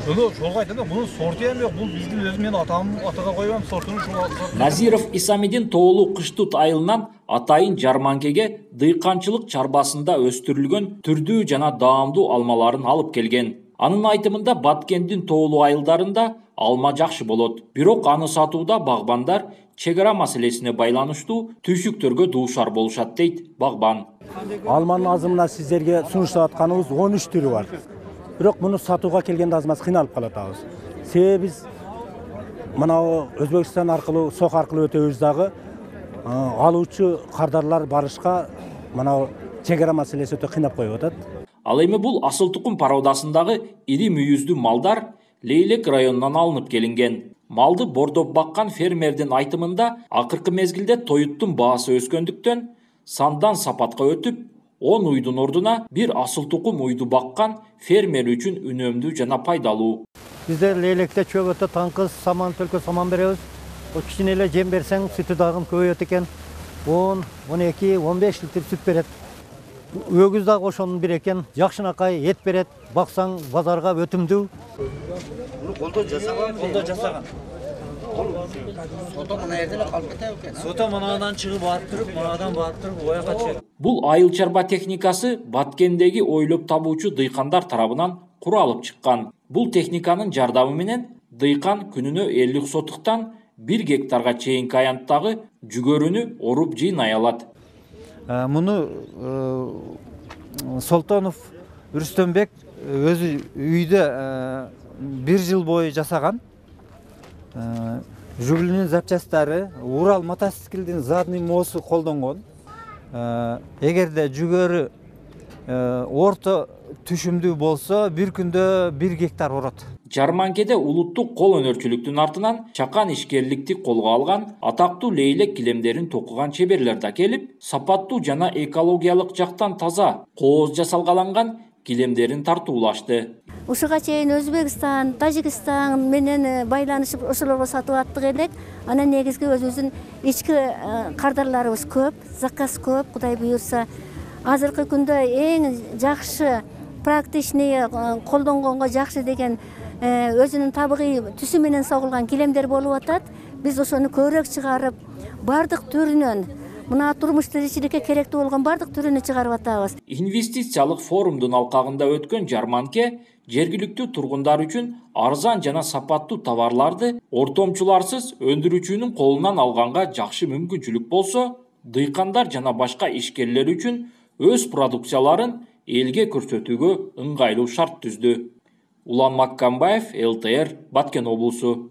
Ошолго айтам да, мунун сорту эми жок. Бул биздин өзү мен атага койгом сортуну ушул. Назиров Исамидин тоолуу кыштут айылынан атайын жарманкеге дыйканчылык чарбасында өстүрүлгөн түрдүү жана даамдуу алмаларын алып келген. Анын айтымында Баткендин тоолуу айылдарында алма жакшы болот. Бирок аны сатууда багбандар чек ара маселесине байланыштуу түйшүктөргө дуушар болушат дейт багбан. Алманын азымына сиздерге сунуштап атканыбыз 13 түрү бар. Бирок муну сатууга келгенде азмаз кыйналып калатабыз. Себеби биз мына Өзбекстан аркылуу, Сок аркылуу өтөбүз дагы алуучу кардарлар барышка мына чек ара маселеси өтө кыйнап коюп атат. Ал эми бул асыл тукум породасындагы ири мүйүздүү малдар Лейлек районунан алынып келинген. Малды бордоп баккан фермердин айтымында акыркы мезгилде тоюттун баасы өскөндүктөн сандан сапатка өтүп, 10 уйдун ордуна бир асыл тукум уйду баккан фермер үчүн үнөмдүү жана пайдалуу. Бизде Лейлекте чөгөтө таңкыз, саман, төлкө саман беребиз. О кичине эле жем берсең, сүтү дагы көбөйөт экен. 10, 12, 15 литр сүт берет. Өгүз дагы ошонун бир экен, жакшынакай эт берет. Баксаң базарга өтүмдүү. Колдо жасаган. Сото мына жерде эле калып кетет экен. Сото мындан чыгып барып туруп, мынадан барып туруп ояка түшөт. Бул айыл чарба техникасы Баткендеги ойлоп табуучу дыйкандар тарабынан куралып чыккан. Бул техниканын жардамы менен дыйкан күнүнө 50 сотуктан 1 гектарга чейинки аянттагы жүгөрүнү оруп жыйнай алат. Муну Солтонов Рүстөмбек өзү үйдө 1 жыл бою жасаган. Жүгүлүнүн запчасттары, Урал мотоциклдин задний моосу колдонгон. Эгерде жүгөрү орто түшүмдүү болсо, бир күндө 1 гектар орот. Жарманкеде улуттук кол өнөрчүлүктүн артынан чакан ишкерликти колго алган атактуу Лейлек килемдерин токуган чеберлер да келип, сапаттуу жана экологиялык жактан таза, кооз жасалгаланган килемдерин тартуулашты. Ушуга чейин Өзбекстан, Тажикстан менен байланышып ошолорго сатып аттык элек. Анан негизги өзүбүздүн ички кардарларыбыз көп, заказ көп, Кудай буйрса. Азыркы күндө эң жакшы, практичный, колдонгонго жакшы деген өзүнүн табигый түсү менен согулган килемдер болуп атат. Биз ошону көбүрөөк чыгарып, бардык түрүнөн мына турмуш тиричиликке керектүү болгон бардык түрүнү чыгарып атабыз. Инвестициялык форумдун алкагында өткөн жарманке жергиликтүү тургундар үчүн арзан жана сапаттуу товарларды ортомчуларсыз өндүрүүчүнүн колунан алганга жакшы мүмкүнчүлүк болсо, дыйкандар жана башка ишкерлер үчүн өз продукцияларын элге көрсөтүүгө ыңгайлуу шарт түздү. Улан Маккамбаев, ЛТР, Баткен облусу.